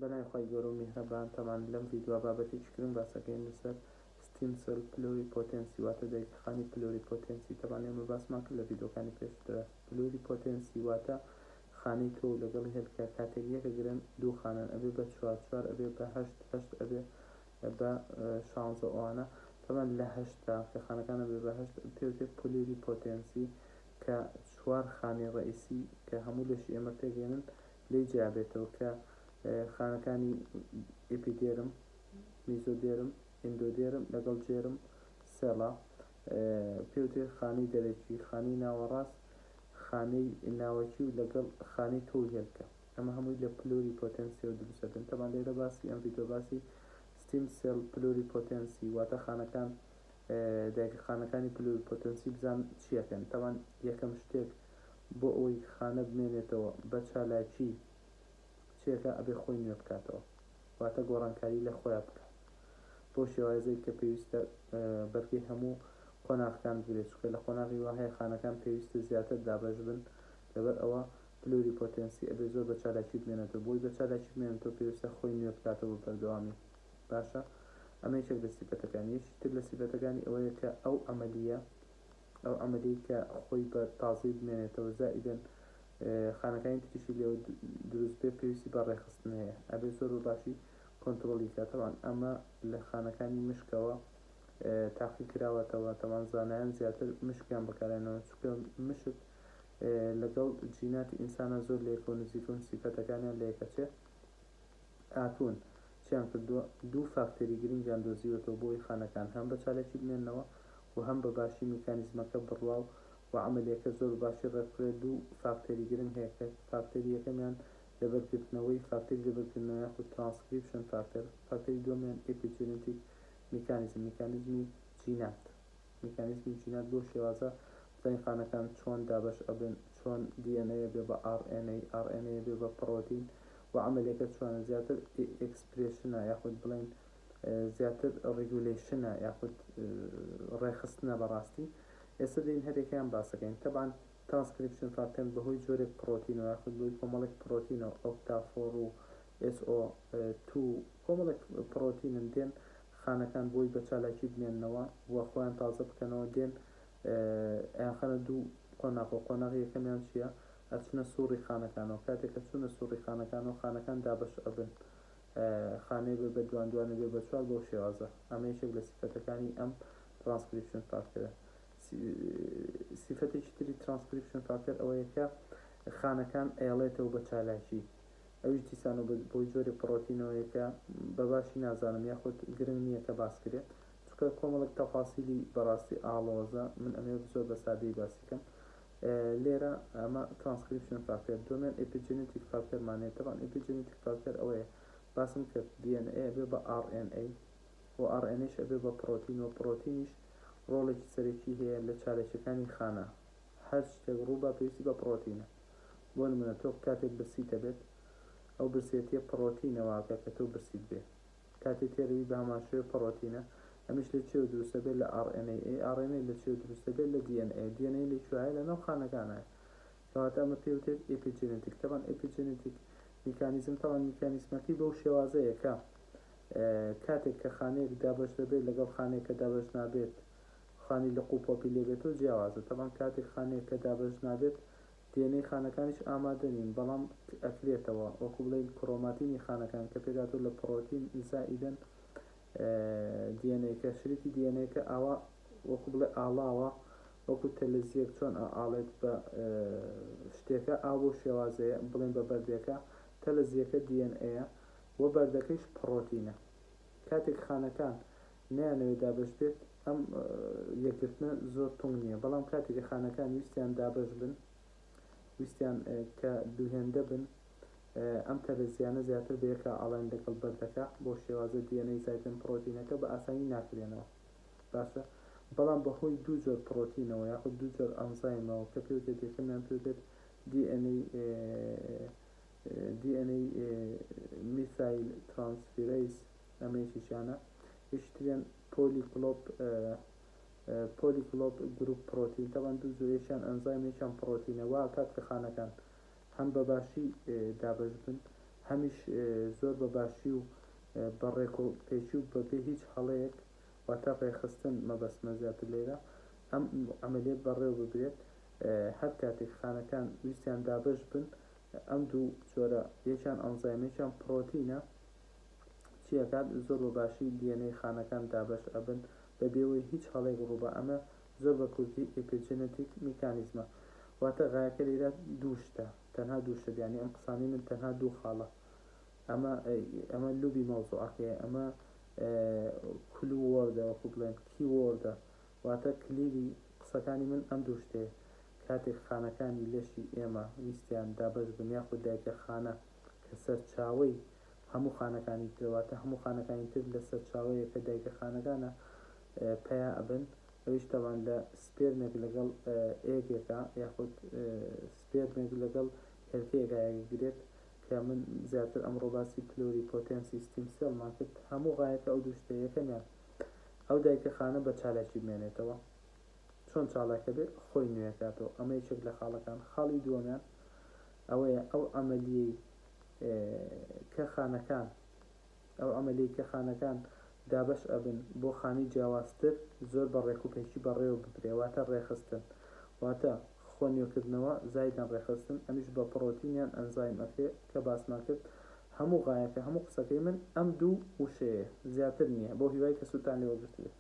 بەناوی خوای گەورە و میهرەبان تەبعەن لەم ڤیدیۆ بابەتێکی گرنگ باسەکەین لەسەر stem cell pluripotency واتە دایکەخانی pluripotency تەبعەن ئێمە باسمان کرد لە ڤیدیۆکانی پێشووترا pluripotency واتە خانەی تۆو لەگەڵ هێلکە کاتێک یەکەگرن دوو خانەن ئەبێ بە چوار چوار ئەبێ بە هەشت هەشت ئەبێ بە شانزە ئەوانە تەبعەن لە هەشتا کە خانەکان ئەبێ بە هەشت پێوتێ pluripotency کە چوار خانەی ڕەئیسی کە هەموو لەشی ئێمە پێکێنن لێی جیابێتەوە کە خانەکانی epiderm، mesoderm، endoderm لەگەڵ germ cell ە پێوترێت خانەی دەرەکی، خانەی ناوەڕاست، خانەی ناوەکی و لەگەڵ خانەی تۆو هێلکە. ئەمە هەمووی لە pluripotency ەوە دروست دەبن. تەبعەن لێرە باسی ئەم ڤیدیۆ باسی stem cell pluripotency واتە خانەکان دایکە خانەکانی pluripotency بزان چیەکەن. تەبعەن یەکەم شتێک بۆ ئەوەی خانە بمێنێتەوە بە چالاکی چێکە ئەبێ خۆی نوێ بکاتەوە واتە گۆڕانکاری لە خۆیا بکات بەو شێوازەی کە پێویستە بەرگەی هەموو قۆناغەکان بگرێت چونکە لە قۆناغی وا هەیە خانەکان پێویستە زیاتر دابەش بن لەبەر ئەوە pluripotency ئەبێ زۆر بە چالاکی بمێنێتەوە بۆی بە چالاکی بمێنێتەوە پێویستە خۆی نوێ بکاتەوە بە بەردەوامی باشە ئەمە یەکێک لە سیفەتەکانی یەکی تر لە سیفەتەکانی ئەوەیە کە ئەو عەمەلیە ئەو عەمەلەی کە خۆی بە تازەی بمێنێتەوە زائیدەن خانەکانی تریشی لێوە دروست بێ پێویستی بە ڕێکخستن هەیە ئەبێ زۆر بە باشی کۆنترۆڵی کات تەبعەن ئەمە لە خانەکانی مشکەوە تاقی کراوەتەوە تەبعەن زانایان زیاتر مشکیان بەکارهێناوە چونکە مشک لەگەڵ جیناتی ئینسانە زۆر لەیەکەوە نزیکن سیفەتەکانیان لەیەکەچێ هاتوون چیان کردووە؟ دوو فاکتەری گرنگیان دۆزیوەتەوە بۆ ئەوەی خانەکان هەم بە چالاکی بمێننەوە و هەم بە باشی میکانیزمەکە بڕوا و عەمەلیەکە زۆر بە باشی ڕێکبخرێت، دوو فاکتەری گرنگ هەیە کە فاکتەری یەکەمیان لەبەرگرتنەوەی فاکتەری لەبەرکردنەوە یاخود ترانسکریپشن فاکتەر، فاکتەری دووەمیان epigenetic mechanism، میکانیزمی جینات. میکانیزمی جینات بەو شێوازە بزانین خانەکان چۆن دابەش ئەبن چۆن DNA ئەبێ بە RNA RNA ئەبێ بە پڕۆتین و عەمەلیەکە چۆنە زیاتر expression ە یاخود بڵێین زیاتر regulation ە یاخود ڕێکخستنە بەڕاستی ئێستا دێین هەرێکیان باسەکەین تەبان ترانسکریپشن فاکتەر بەهۆی جۆرێک پڕۆتینەوە یاخود بۆی کۆمەڵێک پڕۆتینەوە OCT4 و SO2 کۆمەڵێک پڕۆتینن دێن خانەکان بۆی بە چالاکی بمێننەوە و خۆیان تازە بکەنەوە دێن ئەیانخەنە دوو قۆناغەوە قۆناغی یەکەمیان چییە ئەچنە سوڕی خانەکانەوە کاتێک کە چوونە سوڕی خانەکانەوە خانەکان دابەش ئەبن خانەیە بێ بە دوان دوانە بێ بە چوار بەو شێوازە ئەمە یەکێک لە سیفەتەکانی ئەم ترانسکریپشن فاکتەرە سیفەتێکی تری ترانسکریپشن فاکتەر ئەوەیە کە خانەکان ئەیەڵێتەوە بە چالاکی ئەویش دیسانەوە بە بۆی جۆرێک پڕۆتینەوەیە کە بە باشی نازانم یاخود گرنگ نییە کە باس کرێ چونکە کۆمەڵێک تەفاسیلی بەڕاستی ئاڵۆزە من ئەمەوێت زۆر بە سادەیی باسی کەم لێرە ئەمە ترانسکریپشن فاکتەر دووەمیان epigenetic factor مان هەیە تەبعەن epigenetic factor ئەوەیە باسم کرد DNA ئەبێ بە RNA و RNA ش ئەبێ بە پڕۆتین و پڕۆتینیش ڕۆڵێکی سەرەکی هەیە لە چالاکیەکانی خانە هەر شتێک ڕووبا پێویستی بە پڕۆتینە بۆ نمونە تۆ کاتێک برسیت ئەبێت ئەو برسێتیە پڕۆتینە واکە کە تۆ برسیت بێ کاتێ تێرەبی بە هەمان شێوە پڕۆتینە ئەمیش لە چیەوە دروست ئەبێت لە RNA ئەی RNA لە چیەوە دروست ئەبێت لە DNA DNA لە کوێیە لە ناو خانەکانایە کەواتە ئەمە پێی وترێت epigenetic تەبعەن epigenetic mechanism تەبعەن میکانیزمەکەی بەو شێوازەیە کە کاتێک کە خانەیەک دابەش دەبێت لەگەڵ خانەیەک کە دابەش نابێت خانی لق و پۆپی لێبێتەوە جیاوازە تەبعەن کاتێک خانەیەک کە دابەش نابێت DNA خانەکانیش ئامادە نین بەڵام ئەکرێتەوە وەکو بڵێین کرۆماتینی خانەکان کە پێکهاتووە لە پڕۆتین زائیدەن DNA کە شریتی DNA کە ئاوا وەکو بڵێ ئاڵاوە وەکو تەلەزیەک چۆن ئاڵێت بە شتێکە ئاو بەو شێوازەیە بڵێن بە بەردێکە تەلەزیەکە DNA و بەردەکەیش پڕۆتینە کاتێک خانەکان نەیانەوێت دابەش بێت ئەم یەکگرتنە زۆر تونگ نییە بەڵام کاتێک کە خانەکان ویستیان دابەش بن ویستیان کە دووهێندە بن ئەم تەرەزیانە زیاتر بە یەکا ئاڵێن لەگەڵ بەردەکە بۆ شێوازە DNA زایتن پڕۆتینەکە بە ئاسانی ناکرێنەوە باشە بەڵام بەهۆی دوو جۆر پڕۆتینەوە یاخود دوو جۆر ئەنزایمەوە کە پێوتێت یەکەمیان پێوتێت DNA DNA methyl transferase ئەمە یەکێکیانە یەکی تریان polycomb polycomb group protein تەبعەن دوو جۆر یەکیان ئەنزایم یەکیان پڕۆتینە وا ئەکات کە خانەکان هەم بە باشی دابەش بن هەمیش زۆر بە باشی و بە ڕێکوپێکی و بەبێ هیچ هەڵەیەک واتە ڕێکخستن مەبەستمە زیاتر لێرە ئەم عەمەلیە بەڕێوە ببرێت هەر کاتێک خانەکان ویستیان دابەش بن ئەم دوو جۆرە یەکیان ئەنزایم یەکیان پڕۆتینە چی ئەکات زۆر بە باشی DNA خانەکان دابەش ئەبن بە بێوەی هیچ هەڵەیەک ڕووبا ئەمە زۆر بە کوردی epigenetic mechanism ە واتە غایەکە لێرە دوو شتە تەنها دوو شت یانی ئەم قسانەی من تەنها دوو خاڵە ئەمە ئەمە لوبی مەوزوعەکەیە ئەمە clue word ە وەکو بڵێن key word ە واتە کلیلی قسەکانی من ئەم دوو شتەیە کاتێک خانەکانی لەشی ئێمە ویستیان دابەش بن یاخود دایکە خانە کە سەرچاوەی هەموو خانەکانی ترە واتە هەموو خانەکانی تر لە سەرچاوەیە کە دایکە خانەکانە پەیا ئەبن ئەویش تەبعەن لە sperm ێک لەگەڵ egg ێکا یاخود sperm ێک لەگەڵ هێلکەیەکا یەکگرێت کە من زیاتر ئەمڕۆ باسی pluripotency stem cell مان کرد هەموو غایەکە ئەو دوو شتە یەکەمیان ئەو دایکە خانە بە چالاکی بمێنێتەوە چۆن چالاکە بێ خۆی نوێکاتەوە ئەمە یەکێک لە خاڵەکان خاڵی دووەمیان ئەوەیە ئەو عەمەلیەی کە خانەکان ئەو عەمەلیەی کە خانەکان دابەش ئەبن بۆ خانەی جیاوازتر زۆر بە ڕێکوپێکی بەڕێوە ببرێ واتە ڕێخستن واتە خۆ نوێکردنەوە زایدەن ڕێخستن ئەمیش بە پڕۆتین یان ئەنزایم ئەکرێ کە باسمان کرد هەموو غایەکە هەموو قسەکەی من ئەم دوو وشەیە زیاتر نییە بەو هیوای کە سوودتان لێ وەرگرتبێت.